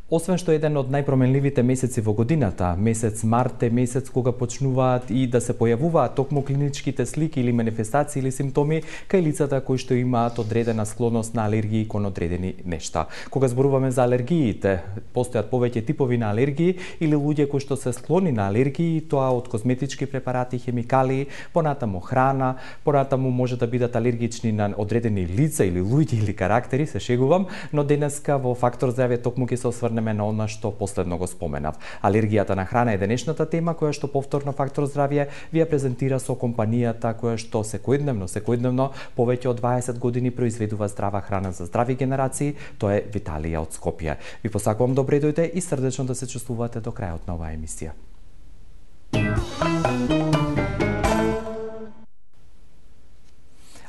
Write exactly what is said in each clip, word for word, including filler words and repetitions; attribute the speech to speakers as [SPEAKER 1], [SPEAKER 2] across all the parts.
[SPEAKER 1] Освен што еден од најпроменливите месеци во годината, месец март е месец кога почнуваат и да се појавуваат токму клиничките слики или манифестации или симптоми кај лицата кои што имаат одредена склоност на алергии кон одредени нешта. Кога зборуваме за алергиите, постојат повеќе типови на алергии или луѓе кои што се склони на алергии, тоа од козметички препарати, хемикалии, понатаму храна, понатаму може да бидат алергични на одредени лица или луѓе или карактери, се шегувам, но денеска во Фактор здравје токму ќе се осврнеме на она што последно го споменав. Алергијата на храна е денешната тема која што повторно Фактор здравје ви ја презентира со компанијата која што секојдневно, секојдневно повеќе од дваесет години произведува здрава храна за здрави генерации, тоа е Виталија од Скопје. Ви посакувам добре дојде и срдечно да се чувствувате до крајот на оваа емисија.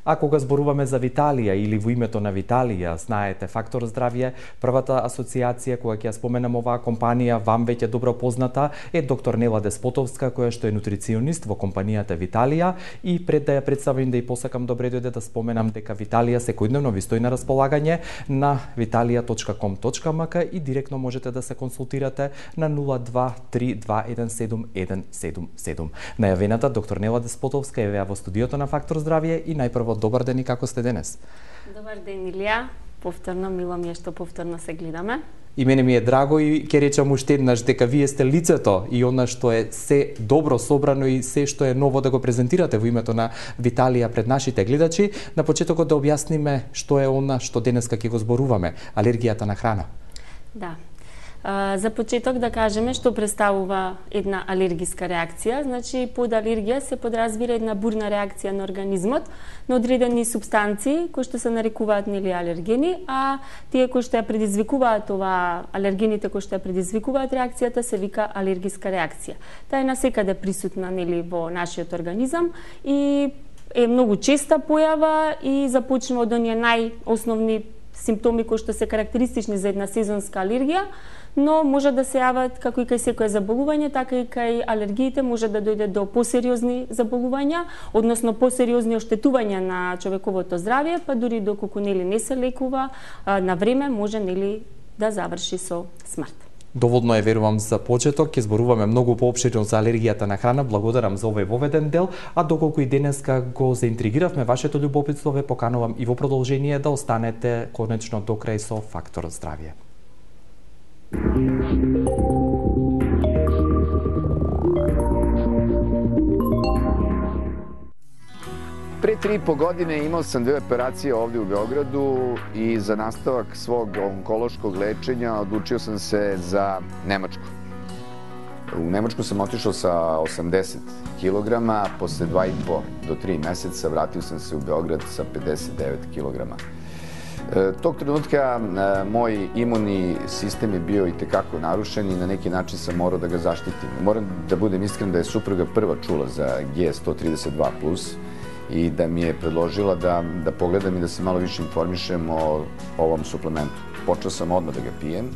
[SPEAKER 1] А кога зборуваме за Виталија или во името на Виталија, знаете, Фактор здравје, првата асоциација која ќе ја споменам оваа компанија, вам веќе добро позната, е доктор Нела Деспотовска, која што е нутриционист во компанијата Виталија, и пред да ја представам да и посакам добре дојде да споменам дека Виталија секојдневно ви стои на располагање на виталија точка ком точка ем ка и директно можете да се консултирате на нула два три два еден седум еден седум седум. Најавената доктор Нела Деспотовска е во студиото на Фактор здравје и најпрво добар ден и како сте денес?
[SPEAKER 2] Добар ден, Илија. Повторно, мило ми е што повторно се гледаме.
[SPEAKER 1] И мене ми е драго и ќе речам уште еднаш дека вие сте лицето и она што е се добро собрано и се што е ново да го презентирате во името на Виталија пред нашите гледачи. На почетокот да објасниме што е она што денеска ќе го зборуваме, алергијата на храна.
[SPEAKER 2] Да. За почеток да кажеме што представува една алергиска реакција. Значи, под алергија се подразбира една бурна реакција на организмот на одредени супстанции кои што се нарекуваат нели алергени, а тие кои што ја предизвикуваат ова, алергените кои што ја предизвикуваат реакцијата се вика алергиска реакција. Таа е насекаде присутна нели во нашиот организам и е многу честа појава и започнува од оние најосновни симптоми кои што се карактеристични за една сезонска алергија, но може да се јават како и кај секое заболување, така и кај алергиите може да дојде до посериозни заболувања, односно посериозни оштетувања на човековото здравје, па дури доколку нели не се лекува на време може нели да заврши со смрт.
[SPEAKER 1] Доволно е, верувам, за почеток. Ќе зборуваме многу поопширно за алергијата на храна. Благодарам за овој воведен дел, а доколку и денеска го заинтригиравме вашето љубопитство, ве поканувам и во продолжение да останете конечно до крај со Фактор здравје.
[SPEAKER 3] Pre tri i po godine imao sam dve operacije ovdje u Beogradu i za nastavak svog onkološkog lečenja odlučio sam se za Nemačku. U Nemačku sam otišao sa osamdeset kilograma, posle dva i po do tri meseca vratio sam se u Beograd sa pedeset devet kilograma. Tog trenutka moj imunni sistem je bio i tekako narušen i na neki način sam morao da ga zaštitim. Moram da budem iskren da je supruga prva čula za G sto trideset dva plus i da mi je predložila da, da pogledam i da se malo više informišem o ovom suplementu. Počeo sam odmah da ga pijem,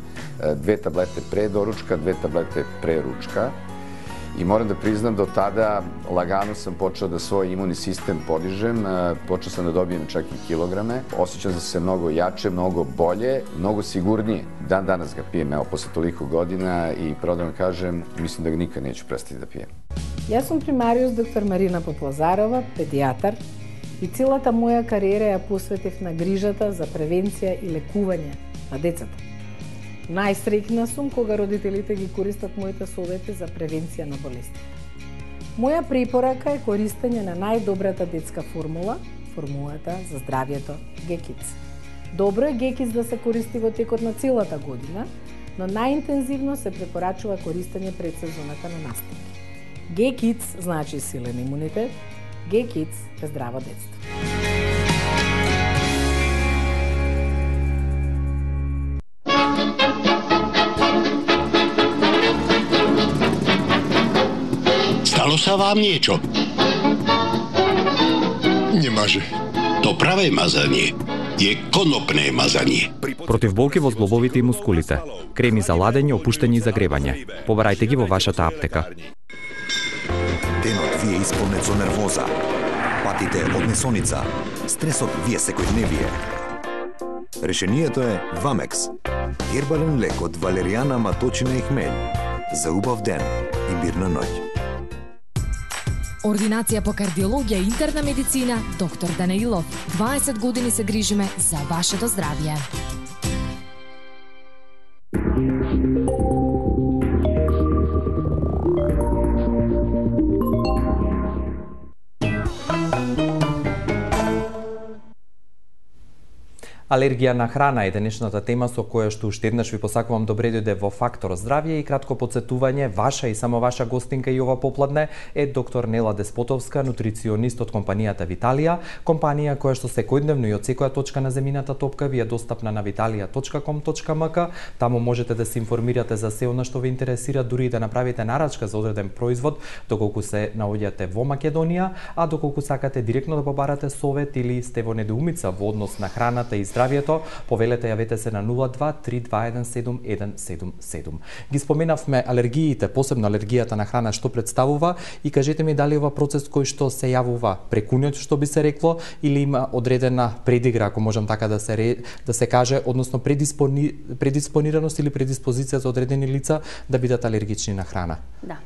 [SPEAKER 3] dve tablete pre doručka, dve tablete pre ručka. I moram da priznam, do tada lagano sam počeo da svoj imunni sistem podižem, počeo sam da dobijem čak i kilograme. Osjećam se mnogo jače, mnogo bolje, mnogo sigurnije. Dan danas ga pijem, evo, posle toliko godina i pravo da vam kažem, mislim da ga nikad neću prestati da pijem.
[SPEAKER 4] Јас сум примариус доктор Марина Поплазарова, педијатар, и целата моја кариера ја посветив на грижата за превенција и лекување на децата. Најсреќна сум кога родителите ги користат моите совети за превенција на болестите. Моја препорака е користење на најдобрата детска формула, формулата за здравјето Г Kids. Добро е Г Kids да се користи во текот на целата година, но најинтензивно се препорачува користење пред сезоната на настапи. Г Kids значи силен имунитет, Г Kids е здраво детство.
[SPEAKER 5] Stalo sa vám niečo?
[SPEAKER 6] Nemáže.
[SPEAKER 5] To pravé mazanie je konopné mazanie.
[SPEAKER 1] Против болки во зглобовите и мускулите. Креми за ладење, опуштење и загревање. Побарајте ги во вашата аптека.
[SPEAKER 6] Денот ви е исполнет со нервоза. Патите од несоница. Стресот ви е секојдневие. Решението е Вамекс. Гербален лек од валеријана, маточина и хмелј. За убав ден и мирна ноќ.
[SPEAKER 7] Ординација по кардиологија и интерна медицина, доктор Данаилов. дваесет години се грижиме за вашето здравје.
[SPEAKER 1] Алергија на храна е денешната тема со која што уште еднаш ви посакувам добре дојде во Фактор здравје и кратко потсетување, ваша и само ваша гостинка и ова попладне е доктор Нела Деспотовска, нутриционист од компанијата Виталија, компанија која што секојдневно и од секоја точка на земјината топка ви е достапна на виталија точка ком точка ем ка. Таму можете да се информирате за се она што ве интересира, дури и да направите нарачка за одреден производ, доколку се наоѓате во Македонија, а доколку сакате директно да побарате совет или сте во недоумица во однос на храната и здравјето, повелете, јавете се на нула два три два еден седум еден седум седум. Ги споменавме алергиите, посебно алергијата на храна што представува, и кажете ми дали ова процес кој што се јавува прекуњот, што би се рекло, или има одредена предигра, ако можам така да се да се каже, односно предиспони, предиспонираност или предиспозиција за одредени лица да бидат алергични на храна.
[SPEAKER 2] Да.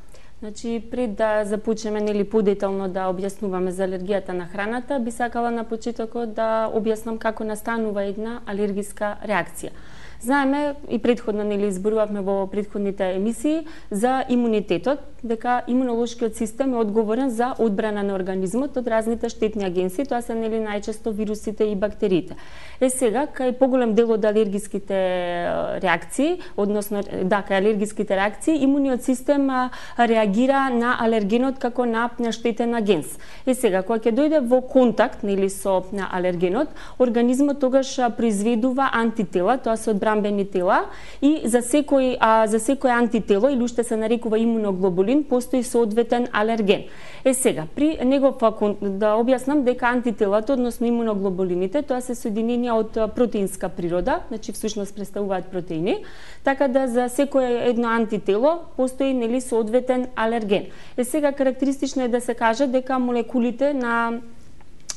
[SPEAKER 2] Значи, пред да започнеме нели подетално да објаснуваме за алергијата на храната, би сакала на почетокот да објаснам како настанува една алергиска реакција. Знаеме и претходно нели изборувавме во претходните емисии за имунитетот, дека имунолошкиот систем е одговорен за одбрана на организмот од разните штетни агенции, тоа се нели најчесто вирусите и бактериите. Е сега, кај поголем дел од алергиските реакции, односно да, кај алергиските реакции, имуниот систем реагира на алергенот како на штетен агенс. Е сега, кога ќе дојде во контакт нели со на алергенот, организмот тогаш произведува антитела, тоа се одбранбени тела, и за секој а, за секој антитело или уште се нарекува имуноглобулин, постои соодветен алерген. Е сега, при негов да објаснам дека антителата, односно имуноглобулините, тоа се соединенија од протеинска природа, значи всушност представуваат протеини, така да за секое едно антитело постои нели соодветен алерген. Е сега, карактеристично е да се каже дека молекулите на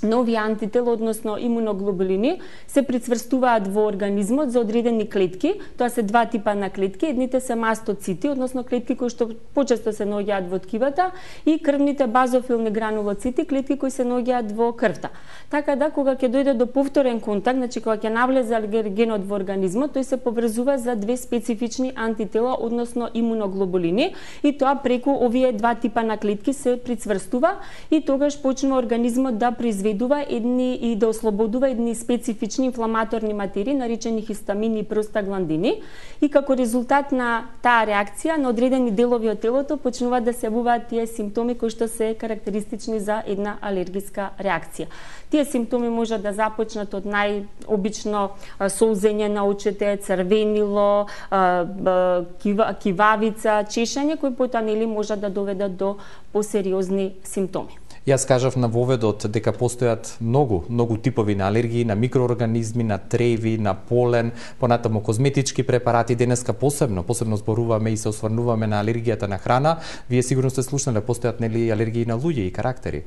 [SPEAKER 2] нови антитела, односно имуноглобулини, се прицврстуваат во организмот за одредени клетки. Тоа се два типа на клетки. Едните се мастоцити, односно клетки кои што почесто се наоѓаат во ткивата, и крвните базофилни гранулоцити, клетки кои се наоѓаат во крвта. Така да, кога ќе дојде до повторен контакт, значи кога ќе навлезе алергенот во организмот, тој се поврзува за две специфични антитела, односно имуноглобулини, и тоа преку овие два типа на клетки се прицврстува и тогаш почнува организмот да произведува едни и да ослободува едни специфични инфламаторни материи, наречени хистамини и простагландини, и како резултат на таа реакција на одредени делови од телото почнуваат да се јавуваат тие симптоми кои што се карактеристични за една алергиска реакција. Тие симптоми можат да започнат од најобично солзење на очите, црвенило, кивавица, чешање, кои потоа нели можат да доведат до посериозни симптоми.
[SPEAKER 1] Јас кажав на воведот дека постојат многу, многу типови на алергии, на микроорганизми, на треви, на полен, понатаму козметички препарати. Денеска посебно, посебно зборуваме и се осврнуваме на алергијата на храна. Вие сигурно сте слушнале, постојат нели алергии на луѓе и карактери.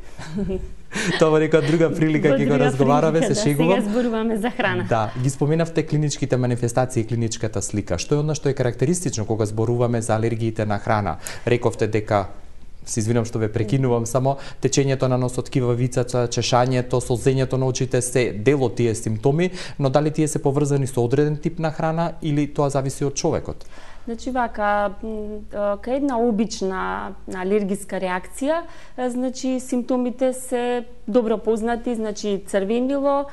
[SPEAKER 1] Тоа нека друга прилика ќе го разговараме, се шегувам.
[SPEAKER 2] Сега зборуваме за храна.
[SPEAKER 1] Да, ги споменавте клиничките манифестации и клиничката слика. Што е она што е карактеристично кога зборуваме за алергиите на храна? Рековте дека, се извинам што ве прекинувам, само течењето на носот, кивавицата, чешањето, солзењето на очите се дел од тие симптоми, но дали тие се поврзани со одреден тип на храна или тоа зависи од човекот?
[SPEAKER 2] Значи вака, кај една обична алергиска реакција, значи симптомите се добро познати, значи црвенило,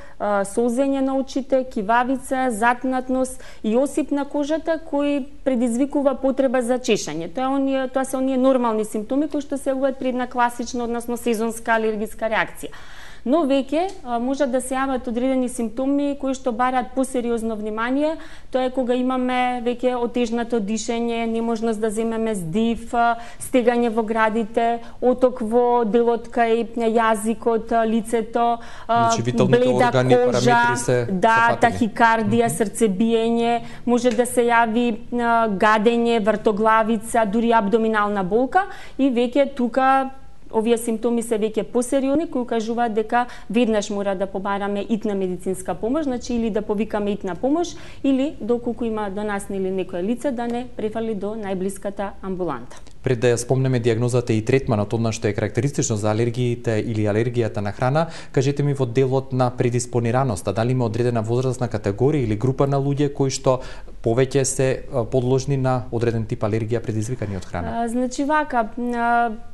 [SPEAKER 2] солзење на очите, кивавица, затнатност и осип на кожата кои предизвикува потреба за чешање. Тоа оние, тоа се оние нормални симптоми кои што се јавуваат при една класична, односно сезонска алергиска реакција. Но веќе можат да се јават одредени симптоми кои што бараат посериозно внимание. Тоа е кога имаме веќе отежнато дишење, неможност да земеме здив, стегање во градите, оток во делот кај јазикот, лицето,
[SPEAKER 1] значи,
[SPEAKER 2] бледа
[SPEAKER 1] органи,
[SPEAKER 2] кожа,
[SPEAKER 1] се
[SPEAKER 2] да, тахикардија, срцебиење, може да се јави гадење, вртоглавица, дури абдоминална болка, и веќе тука овие симптоми се веќе посериозни, кои кажуваат дека веднаш мора да побараме итна медицинска помош, значи или да повикаме итна помош, или доколку има до нас или некое лице да не префали до најблиската амбуланта.
[SPEAKER 1] Пред да ја спомнеме дијагнозата и третманот, одна што е карактеристично за алергиите или алергијата на храна, кажете ми во делот на предиспонираноста, дали има одредена возрастна категорија или група на луѓе кои што повеќе се подложни на одреден тип алергија предизвикани од храна?
[SPEAKER 2] А, значи вака,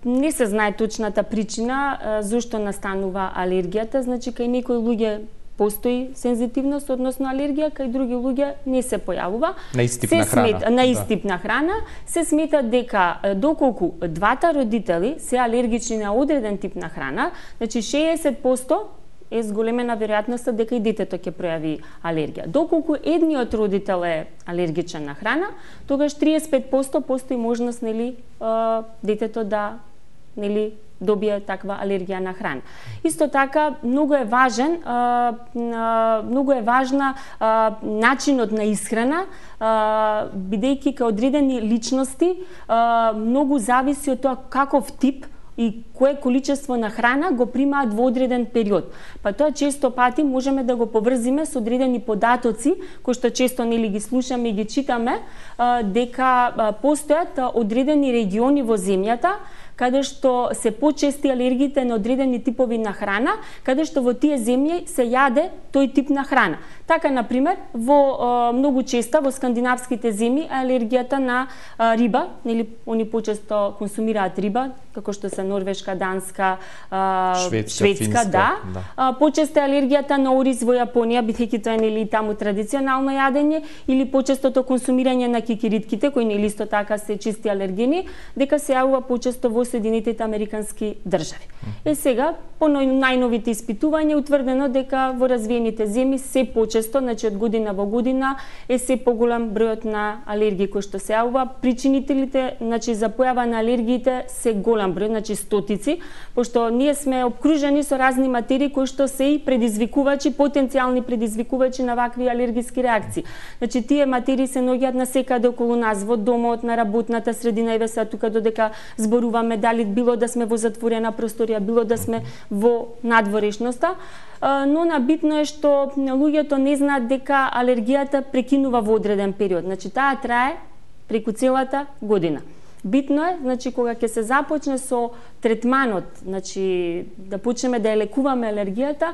[SPEAKER 2] не се знае точната причина зошто настанува алергијата, значи кај некои луѓе постои сензитивност, односно алергија, кај други луѓе не се појавува.
[SPEAKER 1] На истип на храна.
[SPEAKER 2] Смета, на истип да. на храна се смета дека доколку двата родители се алергични на одреден тип на храна, значи шеесет проценти е зголемена веројатноста дека и детето ќе пројави алергија. Доколку едниот родител е алергичен на храна, тогаш триесет и пет проценти постои можност нели детето да нели добие таква алергија на храна. Исто така многу е важен, а, а, многу е важна а, начинот на исхрана, а, бидејќи кај одредени личности а, многу зависи од тоа каков тип и кое количество на храна го примаат во одреден период. Па тоа често пати можеме да го поврзиме со одредени податоци, кои што често нели ги слушаме и ги читаме, а, дека а, постојат а, одредени региони во земјата каде што се почести алергиите на одредени типови на храна, каде што во тие земји се јаде тој тип на храна. Така, например, во е, многу честа во скандинавските земји алергијата на е, риба, нели они почесто консумираат риба, како што се Норвешка, Данска, е,
[SPEAKER 1] Шведска,
[SPEAKER 2] Шведска,
[SPEAKER 1] Финска,
[SPEAKER 2] да.
[SPEAKER 1] да.
[SPEAKER 2] А, почесто алергијата на ориз во Јапонија, бидејќи тоа е нели таму традиционално јадење, или почестото консумирање на кикиритките, кои нели исто така се чисти алергени, дека се јавува почесто во Соединетите Американски држави. Е сега, по најновите испитувања утврдено дека во развиените земји се почесто, значи од година во година, е се поголем бројот на алергии кои што се јавува. Причинителите, значи за појава на алергиите се голем број, значи стотици, пошто ние сме обкружени со разни материи кои што се и предизвикувачи, потенцијални предизвикувачи на вакви алергиски реакции. Значи тие материи се наоѓаат насекаде околу нас, во домот, на работната средина, и веса тука додека зборуваме, дали било да сме во затворена просторија, било да сме во надворешноста, но набитно е што луѓето не знаат дека алергијата прекинува во одреден период. Значи таа трае преку целата година. Битно е, значи кога ќе се започне со третманот, значи да почнеме да ја лекуваме алергијата,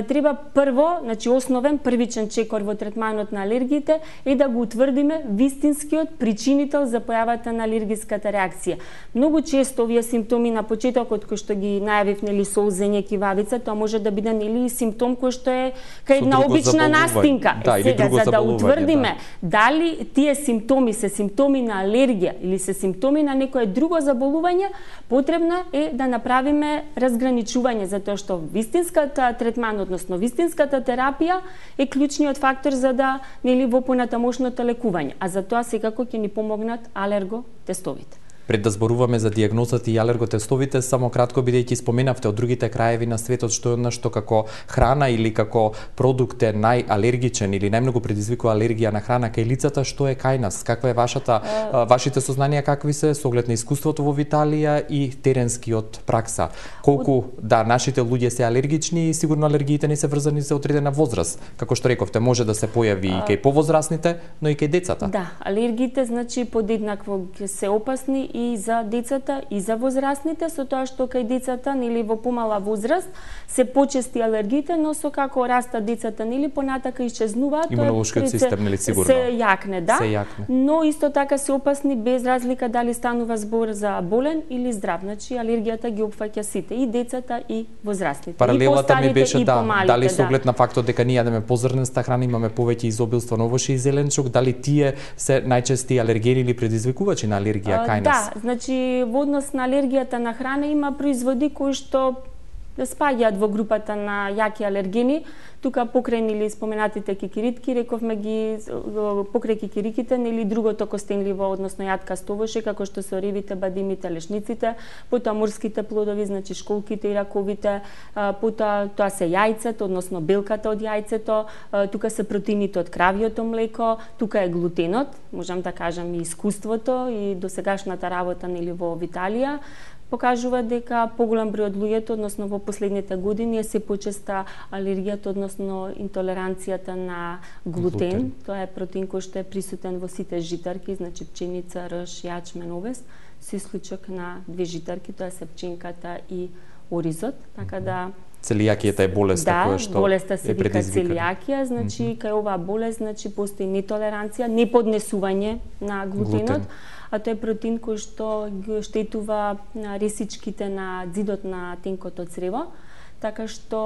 [SPEAKER 2] треба прво, значи основен првичен чекор во третманот на алергиите е да го утврдиме вистинскиот причинител за појавата на алергиската реакција. Многу често овие симптоми на почетокот кои што ги најавив, нели солзење, кивавица, тоа може да биде нели симптом кој што е кај една обична настинка.
[SPEAKER 1] Да,
[SPEAKER 2] е, сега за да утврдиме да. дали тие симптоми се симптоми на алергија или се симптоми на некое друго заболување, потребно е да направиме разграничување, затоа што вистинската третман, односно вистинската терапија е клучниот фактор за да нели во понатамошното лекување, а за тоа секако ќе ни помогнат алерготестовите.
[SPEAKER 1] Пред да зборуваме за дијагнозата и алерготестовите, само кратко, бидејќи споменавте од другите краеви на светот што е нешто како храна или како продукт е најалергичен или најмногу предизвикува алергија на храна кај лицата, што е кај нас? Каква е вашата uh... вашите сознанија, какви се со оглед на искуството во Италија и теренскиот пракса? Колку од... да нашите луѓе се алергични и сигурно алергиите не се врзани за одредена возраст. Како што рековте, може да се појави uh... и кај повозрасните, но и кај децата.
[SPEAKER 2] Да, алергиите значи подеднакво се опасни и за децата и за возрастните, со тоа што кај децата нели во помала возраст се почести алергиите, но со како растат децата нели понатака исчезнуваат,
[SPEAKER 1] имунолошкиот систем нели сигурно
[SPEAKER 2] се јакне, да.
[SPEAKER 1] Се јакне.
[SPEAKER 2] Но исто така се опасни без разлика дали станува збор за болен или здрав. Значи алергијата ги опфаќа сите, и децата и возрастните.
[SPEAKER 1] Паралелата ми беше да,
[SPEAKER 2] помалите,
[SPEAKER 1] дали со
[SPEAKER 2] да.
[SPEAKER 1] оглед на фактот дека ние јадеме позрнеста храна, имаме повеќе изобилство на овоше и зеленчук, дали тие се најчести алергени или предизвикувачи на алергија кај нас?
[SPEAKER 2] Да, значи во однос на алергијата на храна има производи кои што спаѓаат во групата на јаки алергени. Тука покрај нели споменатите кикиритки, рековме ги покрај кикириките, нели другото костенливо, односно јаткасто овоше, како што се оривите, бадимите, лешниците, потоа морските плодови, значи школките и раковите, потоа тоа се јајцето, односно белката од јајцето, тука се протеините од кравјото млеко, тука е глутенот, можам да кажам и искуството и досегашната работа нели во Италија. покажува дека поголем број од луѓето, односно во последните години, е се почеста алергијата, односно интолеранцијата на глутен. глутен. Тоа е протеин кој што е присутен во сите житарки, значи пченица, рж, јачмен, овес, со исклучок на две житарки, тоа се пченката и оризот, така да
[SPEAKER 1] целијакијата е болеста
[SPEAKER 2] да,
[SPEAKER 1] која што
[SPEAKER 2] болеста се
[SPEAKER 1] е
[SPEAKER 2] вика
[SPEAKER 1] предизвикана.
[SPEAKER 2] целијакија, значи mm -hmm. кај оваа болест значи постои нетолеранција, неподнесување на глутенот, глутен. А тоа е протеин кој што ги штетува на ресичките на зидот на тенкото црево, така што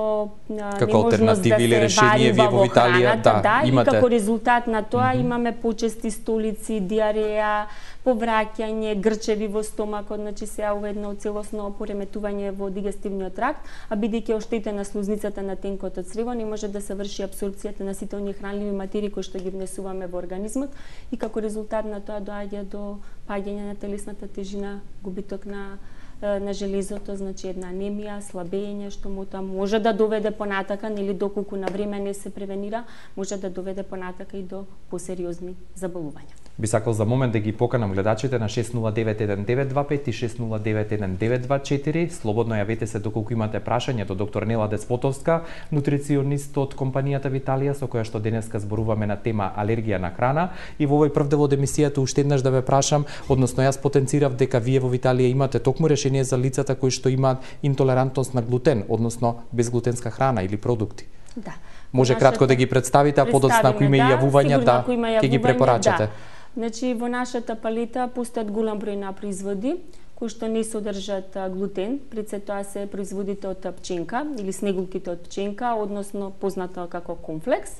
[SPEAKER 1] како алтернатива или решение вие во Италија да,
[SPEAKER 2] да
[SPEAKER 1] имате.
[SPEAKER 2] И како резултат на тоа
[SPEAKER 1] mm -hmm.
[SPEAKER 2] имаме почести столици, диареја, повраќање, грчеви во стомакот, значи се јавува едно целосно пореметување во дигестивниот тракт, а бидејќи оштетена слузницата на тенкото црево, не може да се врши абсорбцијата на сите оние хранливи материи кои што ги внесуваме во организмот и како резултат на тоа доаѓа до паѓање на телесната тежина, губиток на на железото, значи една анемија, слабење, што му тоа може да доведе понатака, нели доколку на време не се превенира, може да доведе понатака и до посериозни заболувања.
[SPEAKER 1] Би сакал за момент да ги поканам гледачите на шест нула девет еден девет два пет и шест нула девет еден девет два четири. Слободно јавете се доколку имате прашање до доктор Нела Деспотовска, нутриционист од компанијата Виталија, со која што денеска зборуваме на тема алергија на храна. И во овој прв дел од емисијата уште еднаш да ве прашам, односно јас потенцирав дека вие во Виталија имате токму решение за лицата кои што имаат интолерантност на глутен, односно безглутенска храна или продукти.
[SPEAKER 2] Да.
[SPEAKER 1] Може нашата... кратко да ги представите, а подоцна ако има да, јавувања, да, ќе ги препорачате. Да.
[SPEAKER 2] Значи, во нашата палета постојат голем број на производи кои што не содржат глутен, пред се тоа се производите од пченка или снегулките од пченка, односно познато како конфлекс.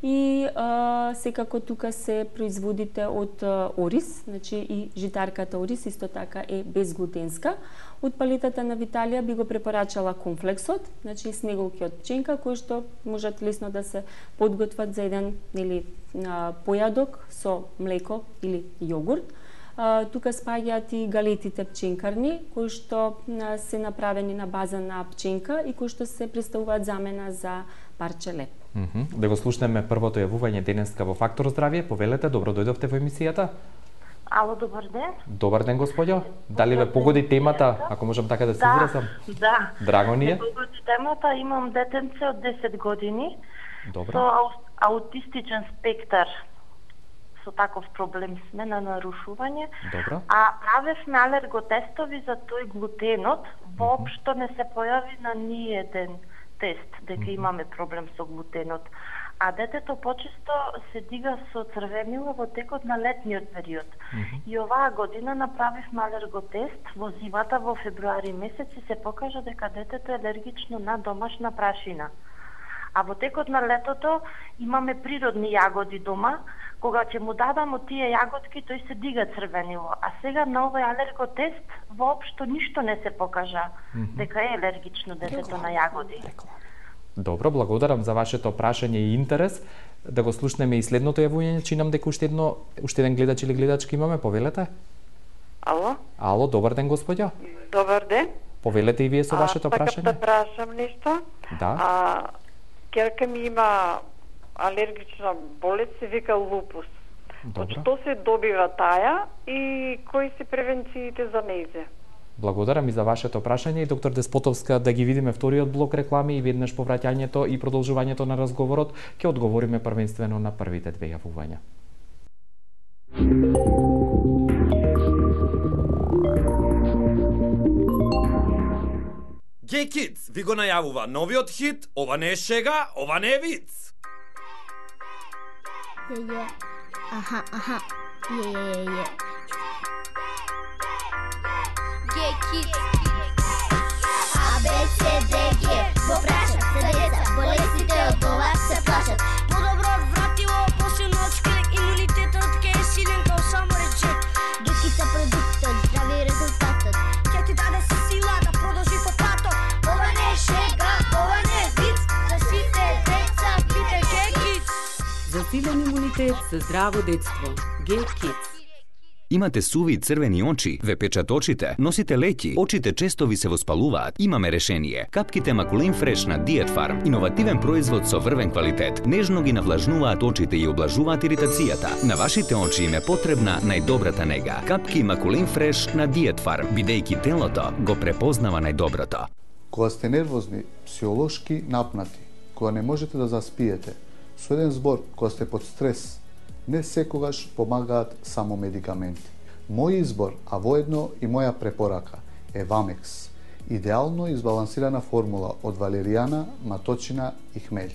[SPEAKER 2] И а, секако тука се производите од а, ориз, значи и житарката ориз исто така е безглутенска. Од палетата на Виталија би го препорачала конфлексот, значи снеголки од пченка кои што можат лесно да се подготват за еден или појадок со млеко или јогурт. А, тука спаѓаат и галетите пченкарни кои што а, се направени на база на пченка и кои што се представуваат замена за парче леп.
[SPEAKER 1] Mm -hmm. Да го слушнеме првото јавување денеска во Фактор здравје. Повелете, добро дојдовте во емисијата.
[SPEAKER 8] Ало, добар ден.
[SPEAKER 1] Добар ден, господјо. Дали ве погоди темата, ако можам така да се
[SPEAKER 8] да,
[SPEAKER 1] изразам?
[SPEAKER 8] Да.
[SPEAKER 1] Драго ни е.
[SPEAKER 8] Ме погоди темата, имам детенце од десет години.
[SPEAKER 1] Добро.
[SPEAKER 8] Со аутистичен спектар. Со таков проблем сме на нарушување.
[SPEAKER 1] Добро.
[SPEAKER 8] А правевме алерготестови за тој глутенот, воопшто не се појави на ниеден тест дека mm -hmm. имаме проблем со глутенот. А детето почесто се дига со црвенила во текот на летниот период. Mm -hmm. И оваа година направивме алерготест во зимата во февруари месец и се покажа дека детето е алергично на домашна прашина. А во текот на летото имаме природни јагоди дома, кога ќе му дадам од тие јагодки, тој се дига црвенило. А сега на овој алерготест воопшто ништо не се покажа mm -hmm. дека е алергично детето на јагоди.
[SPEAKER 1] Добро, благодарам за вашето прашање и интерес. Да го слушнеме и следното јавување, чинам дека уште едно уште еден гледач или гледачка имаме, повелете.
[SPEAKER 9] Ало?
[SPEAKER 1] Ало, добар ден, господјо.
[SPEAKER 9] Добар ден.
[SPEAKER 1] Повелете и вие со вашето
[SPEAKER 9] а,
[SPEAKER 1] прашање.
[SPEAKER 9] Да прашам нешто.
[SPEAKER 1] Да.
[SPEAKER 9] А ќерка ми има алергична болест, се вика лупус. Од што се добива таја и кои се превенциите за нејзе?
[SPEAKER 1] Благодарам и за вашето прашање и доктор Деспотовска, да ги видиме вториот блок реклами и веднаш повраќањето и продолжувањето на разговорот, ќе одговориме првенствено на првите две јавувања.
[SPEAKER 10] Gay Kids ви го најавува новиот хит, ова не е шега, ова не е виц.
[SPEAKER 11] Е, е. Аха, аха. Е, е, е. Gay Kids. А, Б, С, Д, Г. Го прашат се деца, болестите од ова се плашат.
[SPEAKER 12] Подобро вратило, посилно од шкрек, имунитетот ке е силен као само речет.
[SPEAKER 11] Докица продуктот, здрави резултатот.
[SPEAKER 12] Ке ти даде сила да продолжи по патот.
[SPEAKER 11] Ова не е шега, ова не е виц, за сите деца пите Gay Kids.
[SPEAKER 13] За силен имунитет, за здраво детство. Gay Kids. Имате суви и црвени очи, ве печат очите, носите леки, очите често ви се воспалуваат. Имаме решение. Капките Макулин Фреш на Diet Farm, иновативен производ со врвен квалитет, нежно ги навлажнуваат очите и облажуваат иритацијата. На вашите очи им е потребна најдобрата нега. Капки Макулин Фреш на Diet Farm, бидејќи телото го препознава најдоброто.
[SPEAKER 14] Кога сте нервозни, психолошки напнати, кога не можете да заспиете, со еден збор, кога сте под стрес, не секогаш помагаат само медикаменти. Мој избор, а воедно и моја препорака, е Вамекс. Идеално избалансирана формула од валеријана, маточина и хмелј.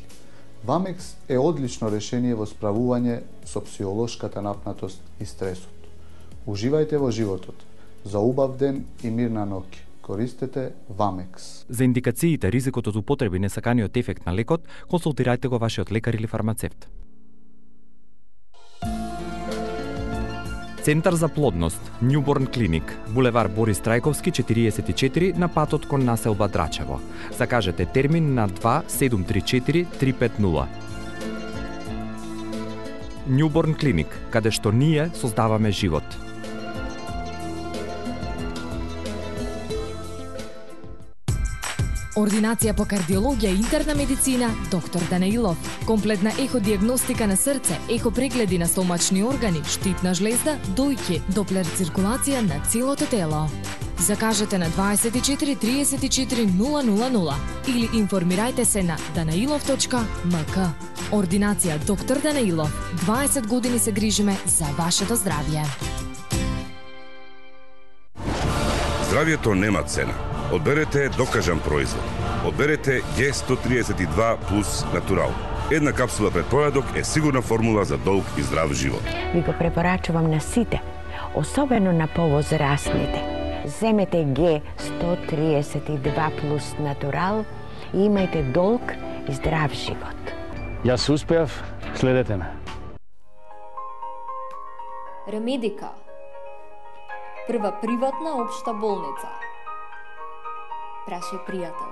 [SPEAKER 14] Вамекс е одлично решение во справување со психолошката напнатост и стресот. Уживајте во животот. За убав ден и мирна ноќ. Користете Вамекс.
[SPEAKER 1] За индикациите, ризикот од употреби и несаканиот ефект на лекот, консултирајте го вашиот лекар или фармацевт. Центар за плодност, Newborn Clinic, булевар Борис Трајковски четириесет и четири на патот кон населба Драчево. Закажете термин на два седум три четири три пет нула. Newborn Clinic, каде што ние создаваме живот.
[SPEAKER 7] Ординација по кардиологија и интерна медицина, доктор Данаилов. Комплетна еходиагностика на срце, ехопрегледи на стомачни органи, штитна жлезда, дојки, доплер циркулација на целото тело. Закажете на дваесет и четири триесет и четири нула нула нула или информирајте се на данаилов точка ем ка. Ординација доктор Данаилов. дваесет години се грижиме за вашето здравје.
[SPEAKER 15] Здравјето нема цена. Одберете докажан производ. Одберете Г сто триесет и два плюс Натурал. Една капсула пред појадок е сигурна формула за долг и здрав живот.
[SPEAKER 16] Ви го препорачувам на сите, особено на повозрастните. Земете Г сто триесет и два плюс Натурал и имајте долг и здрав живот.
[SPEAKER 17] Јас успеав, следете ме.
[SPEAKER 18] Ремедика. Прва приватна општа болница. Прашај пријател.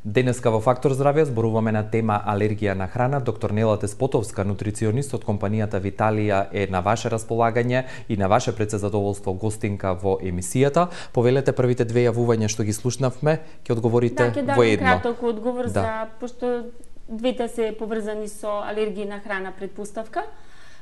[SPEAKER 1] Денеска во Фактор здравје зборуваме на тема алергија на храна. Доктор Нела Теспотовска, нутриционист од компанијата Виталија, е на ваше располагање и на ваше предзадоволство гостинка во емисијата. Повелете првите две јавувања што ги слушнавме, ќе одговорите
[SPEAKER 2] да,
[SPEAKER 1] во едно.
[SPEAKER 2] Да, ќе краток одговор
[SPEAKER 1] да.
[SPEAKER 2] за, пошто двете се поврзани со алергија на храна предпоставка.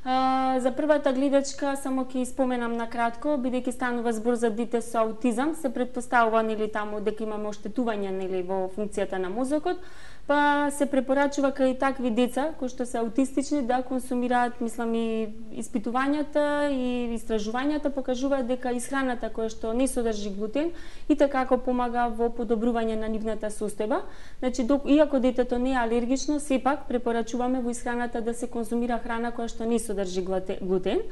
[SPEAKER 2] Uh, за првата гледачка само ќе споменам на кратко, бидејќи станува збор за дете со аутизам, се предпоставува нели таму дека имаме оштетување нели во функцијата на мозокот, па се препорачува кај такви деца кои што се аутистични да консумираат, мислам, и испитувањата и истражувањата покажуваат дека исхраната која што не содржи глутен и како помага во подобрување на нивната состојба. Значи, док, иако детето не е алергично, сепак препорачуваме во исхраната да се конзумира храна која што не содржи глутен.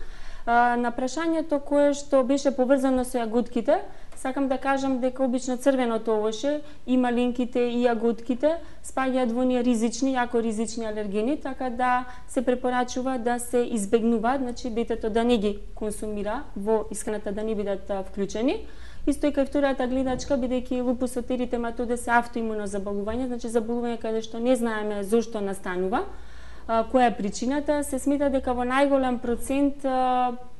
[SPEAKER 2] На прашањето кое што беше поврзано со јаготките, сакам да кажам дека обично црвеното овоше и малинките и јаготките спаѓаат во оние ризични, јако ризични алергени, така да се препорачува да се избегнуваат, значи детето да не ги консумира во исхраната, да не бидат вклучени. Исто и кај втората гледачка, бидејќи лупусот еритематоде се автоимуно заболување, значи заболување каде што не знаеме зошто настанува, која е причината, се смета дека во најголем процент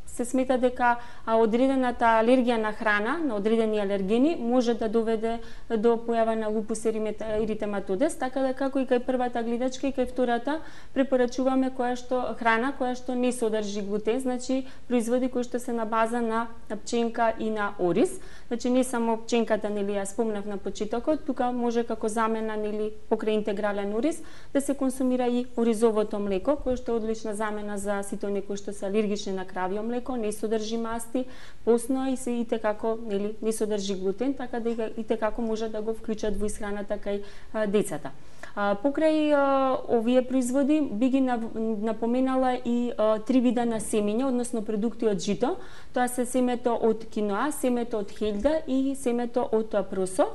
[SPEAKER 2] се смета дека одредената алергија на храна, на одредени алергени, може да доведе до појава на лупус еритематодес, така да како и кај првата гледачка и кај втората препорачуваме која што храна која што не содржи глутен, значи производи кои што се на база на пченка и на ориз. Значи не само пченката, нели ја спомнав на почетокот, тука може како замена, нели покрај интегрален ориз да се консумира и оризовото млеко, кое што е одлична замена за сите оние кои што се алергични на кравјо млеко, не содржи масти, посно и се и како, нели, не содржи глутен, така да и како може да го вклучат во исхраната кај а, децата. А, покрај а, овие производи би ги напоменала и а, три вида на семења, односно продукти од жито. Тоа се семето од киноа, семето од хелда и семето од просо,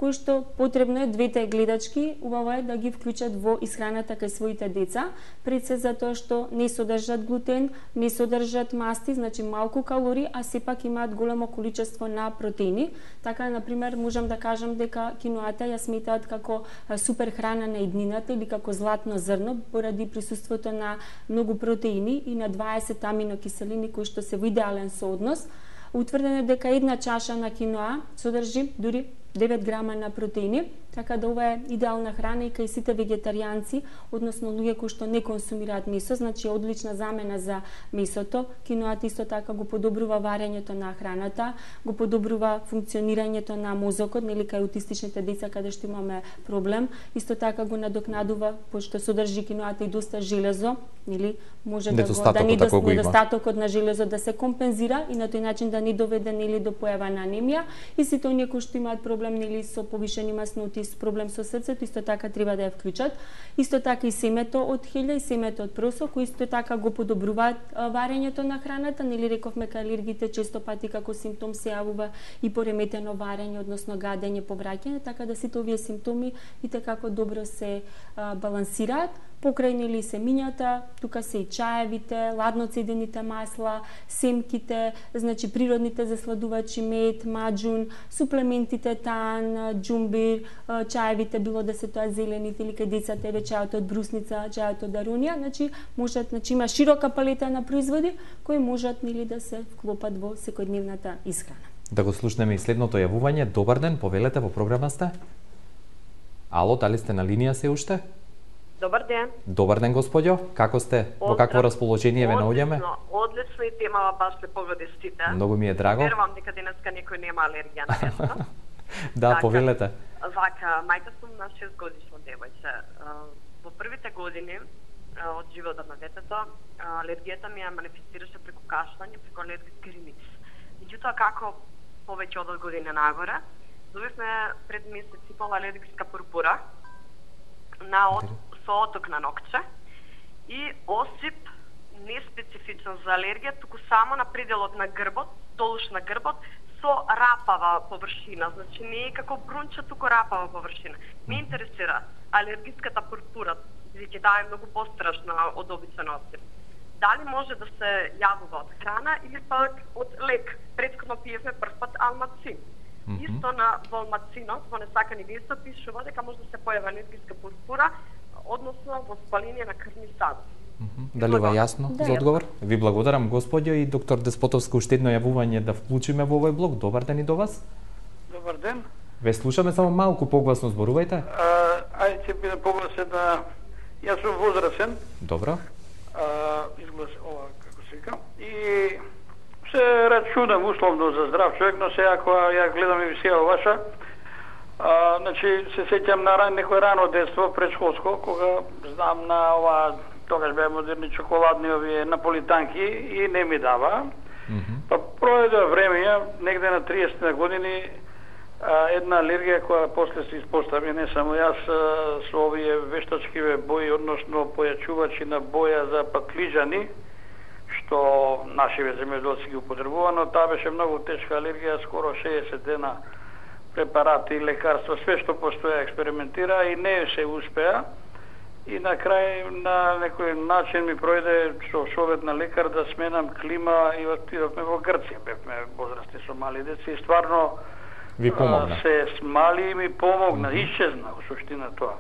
[SPEAKER 2] кои што потребно е двете гледачки, убаво е да ги вклучат во исхраната кај своите деца, пред се затоа што не содржат глутен, не содржат масти, значи малку калории, а сепак имаат големо количество на протеини. Така, например, можам да кажам дека киноата ја сметаат како супер храна на иднината или како златно зрно, поради присуството на многу протеини и на дваесет аминокиселини кои што се во идеален сооднос. Утврдено е дека една чаша на киноа содржи дури девет грама на протеини, така да ова е идеална храна и кај сите вегетаријанци, односно луѓе кои што не консумираат месо, значи одлична замена за месото. Киноата исто така го подобрува варењето на храната, го подобрува функционирањето на мозокот, нели кај аутистичните деца каде што имаме проблем, исто така го надокнадува пошто содржи киноата и доста железо, нели може да го да недостатокот, недостатокот на железо да се компензира и на тој начин да не доведе нели до појава на анемија и сите оние кои што имаат проблем нели со повишени масноти, с проблем со срцето, исто така треба да ја вклучат. Исто така и семето од хелја и семето од просо, кои исто така го подобруваат варењето на храната, нели рековме кај алергите често пати како симптом се јавува и пореметено варење, односно гадење, повраќање, така да сите овие симптоми и како добро се а, балансираат. Покрај нели семињата, тука се и чаевите, ладно цедените масла, семките, значи природните засладувачи, мед, маџун, суплементите тан, џумбир, чаевите, било да се тоа зелените или кај децата еве чајот од брусница, чајот од арунија, значи можат, значи има широка палета на производи кои можат нели да се вклопат во секојдневната исхрана.
[SPEAKER 1] Да го слушнеме и следното јавување. Добар ден, повелете, во програма сте. Ало, дали сте на линија се уште?
[SPEAKER 19] Добар ден.
[SPEAKER 1] Добар ден, господјо. Како сте? Во какво расположение ве наоѓаме?
[SPEAKER 19] Одлично, одлично и темава баш ле погоди стите.
[SPEAKER 1] Многу ми е драго.
[SPEAKER 19] Верувам дека денеска некој нема алергија на место.
[SPEAKER 1] Да, повелете.
[SPEAKER 19] Вака, мајка сум на шест годишно девојче. Во првите години од животот на детето, алергијата ми ја манифестираше преку кашлање, преку алергиски риници. Меѓутоа, како повеќе од година нагоре, добивме пред месец и пол алергиска пурпура на од со оток на нокче и осип неспецифичен за алергија, туку само на пределот на грбот, долуш на грбот, со рапава површина, значи не е како брунче, туку рапава површина. Ме интересира алергиската пурпура, бидејќи таа е многу пострашна од обичен осип. Дали може да се јавува од храна или пак од лек? Претходно пиевме прв пат алмацин. Mm -hmm. Исто на во алмацинот, во несакани веста пишува дека може да се појави алергиска пурпура, односно во спаление на крвни садови.
[SPEAKER 1] Mm -hmm. Дали ова јасно да, за одговор? Ви благодарам, господјо, и доктор Деспотовска уште едно јавување да вклучиме во овој блок. Добар ден и до вас.
[SPEAKER 20] Добар ден.
[SPEAKER 1] Ве слушаме, само малку погласно зборувајте.
[SPEAKER 20] Ајде ќе биде погласен да јас сум возрасен.
[SPEAKER 1] Добро.
[SPEAKER 20] А, изглас ова како се вика. И се рачунам условно за здрав човек, но сега кога ја гледам емисија ваша, а, значи се сеќам на ран, некој рано детство, предшколско, кога знам на ова, тогаш беа модерни чоколадни овие наполитанки и не ми дава. Mm -hmm. Па пројде време, негде на триесет години, а, една алергија која после се испостави, не само јас, а, со овие вештачкиве бои, односно појачувачи на боја за патлиџани, што нашиве земјоделци ги употребува, но таа беше многу тешка алергија, скоро шеесет дена препарати, лекарства, све што постоја експериментира и не се успеа. И на крај на некој начин ми пројде со совет на лекар да сменам клима и отидовме во Грција. Бевме возрастни со мали деца и стварно
[SPEAKER 1] ви помогна.
[SPEAKER 20] Се смали и ми помогна, mm -hmm. исчезна во суштина тоа.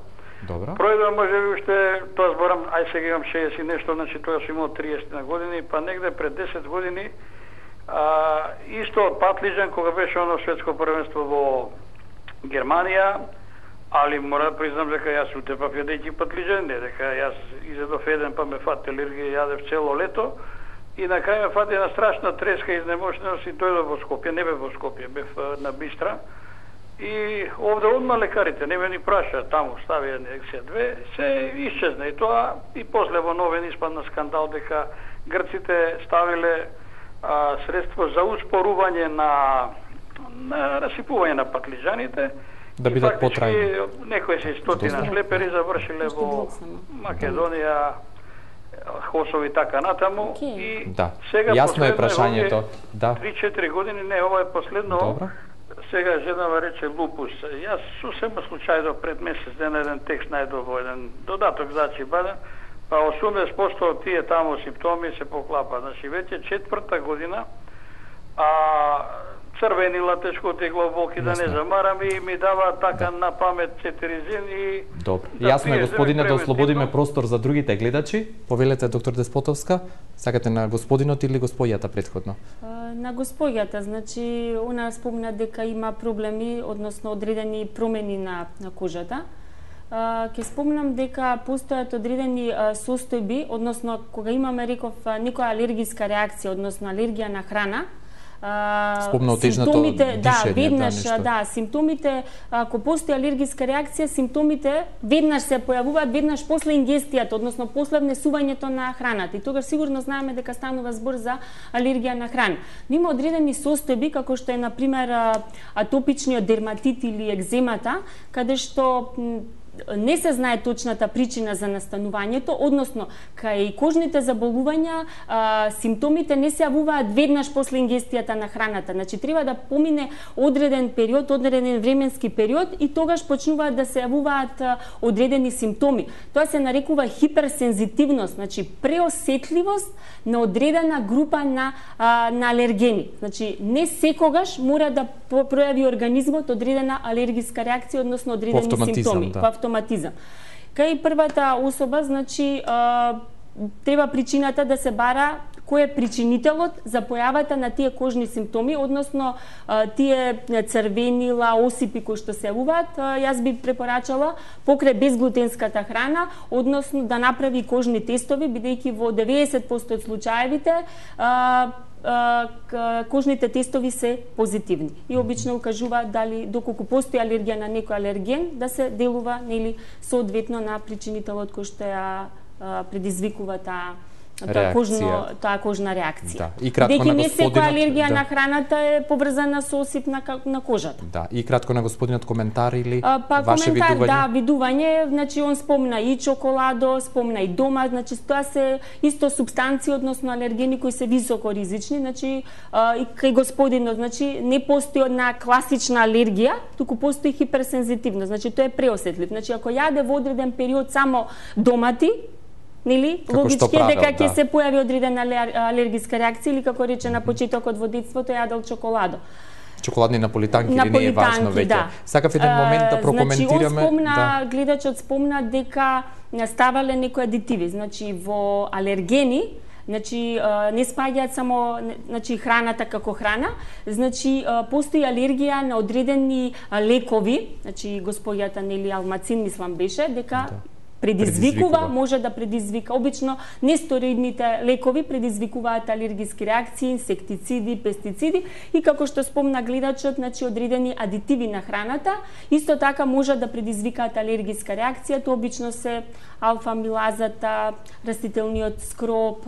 [SPEAKER 1] Добро.
[SPEAKER 20] Пројде може би уште, тоа зборам, ај сега имам шеесет и нешто, значи тоа сум имал триесет години, па негде пред десет години, а, исто од патлиџан, кога беше оно светско првенство во Германија, али мора да признам дека јас утепав јадејќи патлиџан, не дека јас изедов еден па ме фати алергија, јадев цело лето, и на крај ме фати една страшна треска, изнемошеност и дојдов во Скопје, не бев во Скопје, бев на Бистра. И овде одма лекарите не ме ни праша, таму стави инекција две, се исчезна и тоа, и после во новин испадна скандал дека грците ставиле а, средство за успорување на, на расипување на патлиџаните,
[SPEAKER 1] да бидат потрајни.
[SPEAKER 20] Некои се стотина шлепери завршиле во Македонија, Хосови и така натаму. Okay. И
[SPEAKER 1] да.
[SPEAKER 20] сега
[SPEAKER 1] јасно е прашањето. Да.
[SPEAKER 20] три-четири години, не, ова е последно.
[SPEAKER 1] Добро.
[SPEAKER 20] сега женава рече лупус. Јас сосема случајно пред месец ден еден текст најдов во еден додаток значи баден, па осумдесет проценти од тие таму симптоми се поклапа. Значи веќе четврта година, а црвени латешко тегло болки да не замарам и ми дава така да. На памет цетиризин и
[SPEAKER 1] добро. Да јасно е господине да ослободиме простор за другите гледачи. Повелете доктор Деспотовска, сакате на господинот или госпојата претходно?
[SPEAKER 2] На госпојата, значи она спомна дека има проблеми, односно одредени промени на на кожата. Ќе спомнам дека постојат одредени состојби, односно кога имаме реков некоја алергиска реакција, односно алергија на храна,
[SPEAKER 1] спомна симптомите,
[SPEAKER 2] дишење, да, веднаш, да, да, симптомите, ако постои алергиска реакција, симптомите веднаш се појавуваат, веднаш после ингестијата, односно после внесувањето на храната. И тогаш сигурно знаеме дека станува збор за алергија на храна. Но има одредени состојби, како што е, например, атопичниот дерматит или екземата, каде што не се знае точната причина за настанувањето, односно, кај кожните заболувања а, симптомите не се јавуваат веднаш после ингестијата на храната. Значи, треба да помине одреден период, одреден временски период и тогаш почнуваат да се јавуваат а, одредени симптоми. Тоа се нарекува хиперсензитивност, значи преосетливост на одредена група на, а, на алергени. Значи, не секогаш мора да пројави организмот одредена алергиска реакција, односно одредени симптоми.
[SPEAKER 1] Да.
[SPEAKER 2] Автоматизам. Кај првата особа, значи, а, треба причината да се бара кој е причинителот за појавата на тие кожни симптоми, односно а, тие црвенила, осипи кои што се јавуваат. Јас би препорачала покрај безглутенската храна, односно да направи кожни тестови, бидејќи во деветдесет проценти од случаевите а, кожните тестови се позитивни и обично укажуваат дали доколку постои алергија на некој алерген да се делува нели соодветно на причинителот кој што ја предизвикува таа таа кожно таа кожна реакција.
[SPEAKER 1] Да. И кратко
[SPEAKER 2] Деки
[SPEAKER 1] на
[SPEAKER 2] не
[SPEAKER 1] господинот,
[SPEAKER 2] секоја алергија
[SPEAKER 1] да.
[SPEAKER 2] на храната е поврзана со осип на, на кожата.
[SPEAKER 1] Да, и кратко на господинот коментар или
[SPEAKER 2] а, па,
[SPEAKER 1] ваше
[SPEAKER 2] коментар,
[SPEAKER 1] видување?
[SPEAKER 2] Да, видување, значи он спомна и чоколадо, спомна и дома, значи тоа се исто супстанции, односно алергени кои се високо ризични, значи а, и кај господинот, значи не постои една класична алергија, туку постои хиперсензитивност, значи тоа е преосетлив. Значи ако јаде во одреден период само домати, нели, логички е дека ќе
[SPEAKER 1] да.
[SPEAKER 2] се појави одредена алергиска реакција или како рече на почетокот во детството јадел чоколадо.
[SPEAKER 1] Чоколадни наполитанки или не е важно веќе.
[SPEAKER 2] Да.
[SPEAKER 1] Сакав еден момент да прокоментираме.
[SPEAKER 2] Значи, он спомна,
[SPEAKER 1] да.
[SPEAKER 2] гледачот спомна дека ставале некои адитиви, значи во алергени, значи не спаѓаат само значи храната како храна, значи постои алергија на одредени лекови, значи госпојата нели алмацин мислам беше дека да. Предизвикува, предизвикува, може да предизвика. Обично нестероидните лекови предизвикуваат алергиски реакции, инсектициди, пестициди и како што спомна гледачот, значи одредени адитиви на храната, исто така може да предизвикаат алергиска реакција, тоа обично се алфа-милазата, растителниот скроп.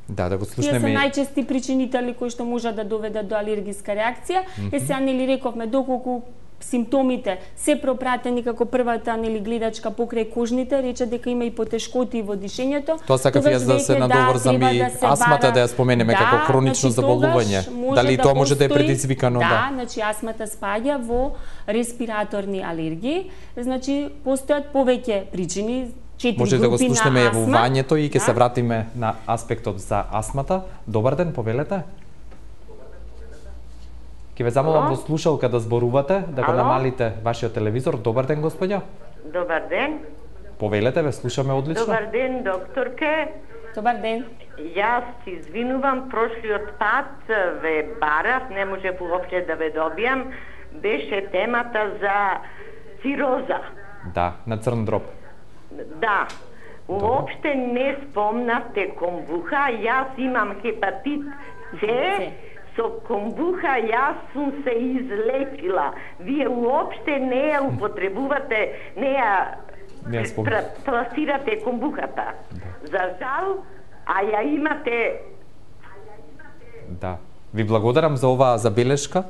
[SPEAKER 1] Да, да го слушнеме.
[SPEAKER 2] Тие се најчести причинители кои што може да доведат до алергиска реакција. Mm -hmm. Е сега нели рековме доколку симптомите се пропратени како првата нели гледачка покрај кожните, рече дека има и потешкоти во дишењето.
[SPEAKER 1] Тоа сакав јас да се надоврзам да, и да астмата бара... да ја споменеме да, како хронично значи, заболување. Дали да тоа може да е предизвикано?
[SPEAKER 2] Да,
[SPEAKER 1] да,
[SPEAKER 2] значи астмата спаѓа во респираторни алергии, значи постојат повеќе причини.
[SPEAKER 1] Може да го слушнеме јавувањето и ќе да. Се вратиме на аспектот за астмата. Добар ден, повелете. Ке ве замолам во слушалка да зборувате, да го намалите вашиот телевизор. Добар ден, господја.
[SPEAKER 21] Добар ден.
[SPEAKER 1] Повелете, ве слушаме одлично.
[SPEAKER 21] Добар ден, докторке.
[SPEAKER 2] Добар ден.
[SPEAKER 21] Јас се извинувам, прошлиот пат ве барав, не може воопште да ве добијам. Беше темата за цироза.
[SPEAKER 1] Да, на црн дроб.
[SPEAKER 21] Да. Уопште не спомнавте комбуха, јас имам хепатит С. Со комбуха јас сум се излечила. Вие уопште не ја употребувате, не ја пласирате комбухата. Да. За жал, а ја имате...
[SPEAKER 1] Да. Ви благодарам за оваа забелешка.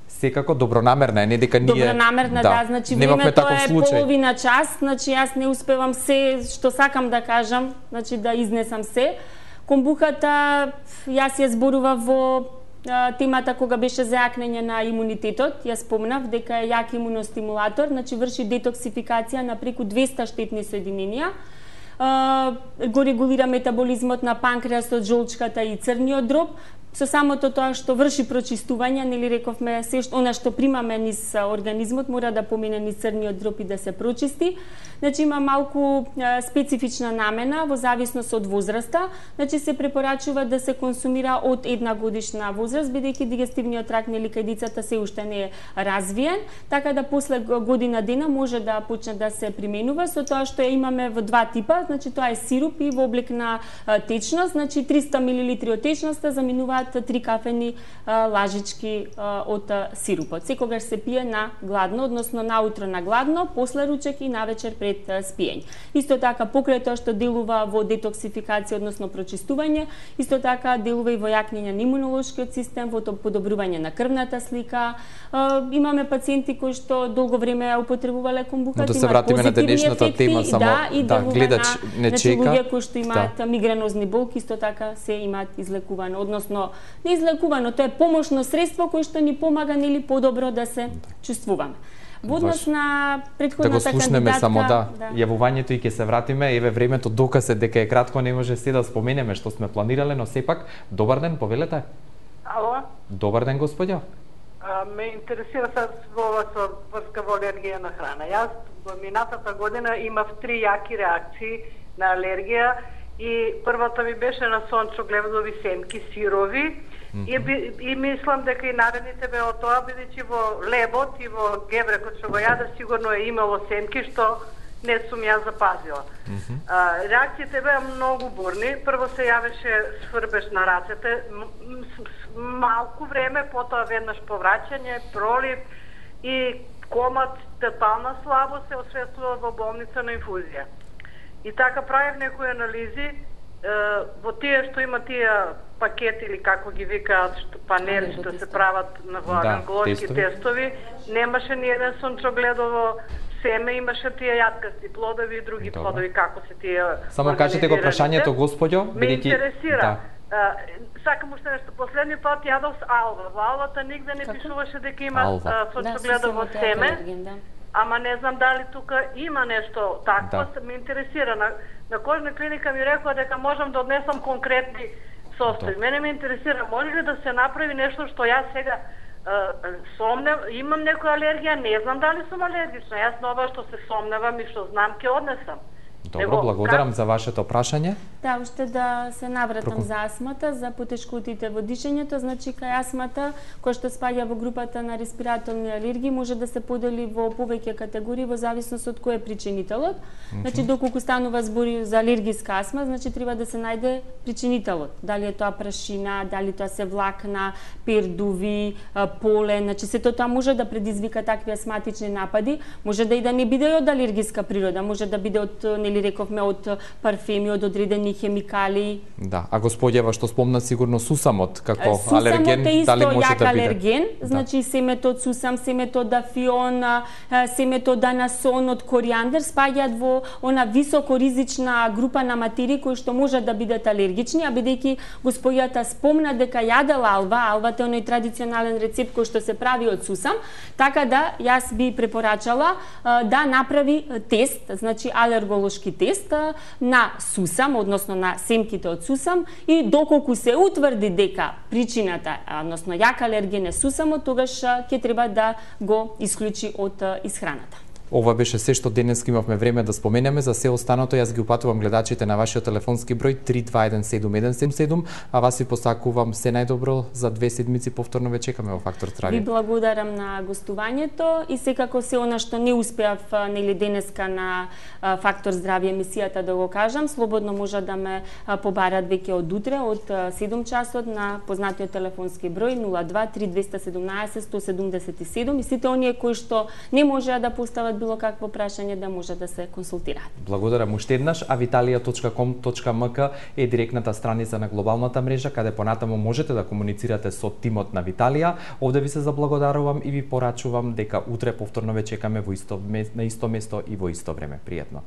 [SPEAKER 1] Секако добронамерна е, не дека ние...
[SPEAKER 2] Добронамерна, да, да значи времето е случај. Половина час, значи јас не успевам се што сакам да кажам, значи да изнесам се. Комбухата, јас ја зборував во темата кога беше за јакнење на имунитетот, ја спомнав дека е јак имуностимулатор, значи врши детоксификација на преку двеста штетни соединенија, го регулира метаболизмот на панкреасот, жолчката и црниот дроб. Со самото тоа што врши прочистување, нели рековме, се што она што примаме низ организмот мора да помине низ црниот дроб и да се прочисти. Значи има малку е, специфична намена во зависност од возраста. Значи се препорачува да се консумира од една годишна возраст, бидејќи дигестивниот тракт нели кај децата се уште не е развиен, така да после година дена може да почне да се применува со тоа што имаме во два типа, значи тоа е сируп и во облик на е, течност, значи триста милилитри од течноста заменуваат три кафени а, лажички а, од а, сирупот. Секогаш се пие на гладно, односно наутро на гладно, после ручек и навечер пред а, спиење. Исто така покрај тоа што делува во детоксификација, односно прочистување, исто така делува и во јакнење на имунолошкиот систем, во подобрување на крвната слика. А, имаме пациенти кои што долго време употребувале комбуха,
[SPEAKER 1] да се вратиме на денешната
[SPEAKER 2] ефекти,
[SPEAKER 1] тема, само
[SPEAKER 2] да, и
[SPEAKER 1] да, гледач
[SPEAKER 2] на,
[SPEAKER 1] не чека.
[SPEAKER 2] Луѓе кои што имаат
[SPEAKER 1] да.
[SPEAKER 2] мигренозни болки, исто така се имаат излекувано, односно не излекувано, тоа е помошно средство кое што ни помага нели подобро да се чувствуваме. Во однос на претходната
[SPEAKER 1] кандидатка... Да го слушнеме само, да,
[SPEAKER 2] да.
[SPEAKER 1] јавувањето и ќе се вратиме, еве времето доказ е дека е кратко, не може се да споменеме што сме планирале, но сепак, добар ден, повелете.
[SPEAKER 3] Ало?
[SPEAKER 1] Добар ден, господјо.
[SPEAKER 3] А, ме интересира се во ова со врска во алергија на храна. Јас во минатата година имав три јаки реакции на алергија и првата ми беше на сончогледови семки сирови. Mm -hmm. и, и мислам дека и наредните бе од тоа, бидејќи во лебот и во гебрекот што го јаде сигурно е имало семки што не сум ја запазила. Mm -hmm. а, реакциите беа многу бурни. Прво се јавеше сврбеж на рацете, малку време, потоа веднаш повраќање, пролив и комат, тотална слабост се освестува во болница на инфузија. И така правев некои анализи, е, во тие што има тие пакети или како ги викаат, што панели што се прават на во агроекологски да, тестови, немаше ни еден сончогледово семе, имаше тие јаткасти плодови и други Добре. плодови, како се тие.
[SPEAKER 1] Само кажете го прашањето, господјо,
[SPEAKER 3] ме интересира. Да. Uh, сакам уште нешто. Последни пат јадов с алва. Во алвата нигде не пишуваше дека има сончогледово да, семе. Да. Ама не знам дали тука има нешто такво, да. Ме интересира. На, на кожна клиника ми рекоа дека можам да однесам конкретни состојби. Мене ме интересира, може ли да се направи нешто што јас сега uh, сомнев, имам некоја алергија, не знам дали сум алергична. Јас на ова што се сомневам и што знам ќе однесам.
[SPEAKER 1] Добро, Него, благодарам как... за вашето прашање.
[SPEAKER 2] Да, уште да се навратам Проку... за астмата, за потешкотите во дишењето, значи кај астмата, која што спаѓа во групата на респираторни алергии, може да се подели во повеќе категории во зависност од кој е причинителот. Mm -hmm. Значи доколку станува збори за алергиска астма, значи треба да се најде причинителот. Дали е тоа прашина, дали тоа се влакна, пердуви, полен, значи сето тоа може да предизвика такви астматични напади, може да и да не биде од алергиска природа, може да биде од нели рековме од парфеми, од одредени хемикали.
[SPEAKER 1] Да, а господјева што спомна сигурно сусамот како
[SPEAKER 2] сусамот
[SPEAKER 1] алерген,
[SPEAKER 2] е
[SPEAKER 1] дали може
[SPEAKER 2] да биде? Алерген,
[SPEAKER 1] да.
[SPEAKER 2] значи семето од сусам, семето од дафион, семето од анасон, од коријандер спаѓаат во она високоризична група на материи кои што може да бидат алергични, а бидејќи господјата спомна дека јадела алва, алвата е оној традиционален рецепт кој што се прави од сусам, така да јас би препорачала да направи тест, значи алерголошки тест на сусам, односно на семките од сусам, и доколку се утврди дека причината, односно јак алерген е сусамот, тогаш ќе треба да го исклучи од исхраната.
[SPEAKER 1] Ова беше се што денес имавме време да споменеме. За се останато јас ги упатувам гледачите на вашиот телефонски број три два еден седум еден седум седум, а вас ви посакувам се најдобро за две седмици. Повторно ве чекаме во Фактор здравје.
[SPEAKER 2] Ви благодарам на гостувањето и секако се она што не успеав нели денеска на Фактор здравје емисијата да го кажам, слободно може да ме побарат веќе од утре од седум часот на познатиот телефонски број нула два три двеста седумнаесет сто седумдесет и седум и сите оние кои што не можеа да постават било какво прашање да може да се консултираат.
[SPEAKER 1] Благодарам уште еднаш. авиталија точка ком точка ем ка е директната страница на глобалната мрежа каде понатаму можете да комуницирате со тимот на Виталија. Овде ви се заблагодарувам и ви порачувам дека утре повторно ве чекаме во исто на исто место и во исто време. Пријатно.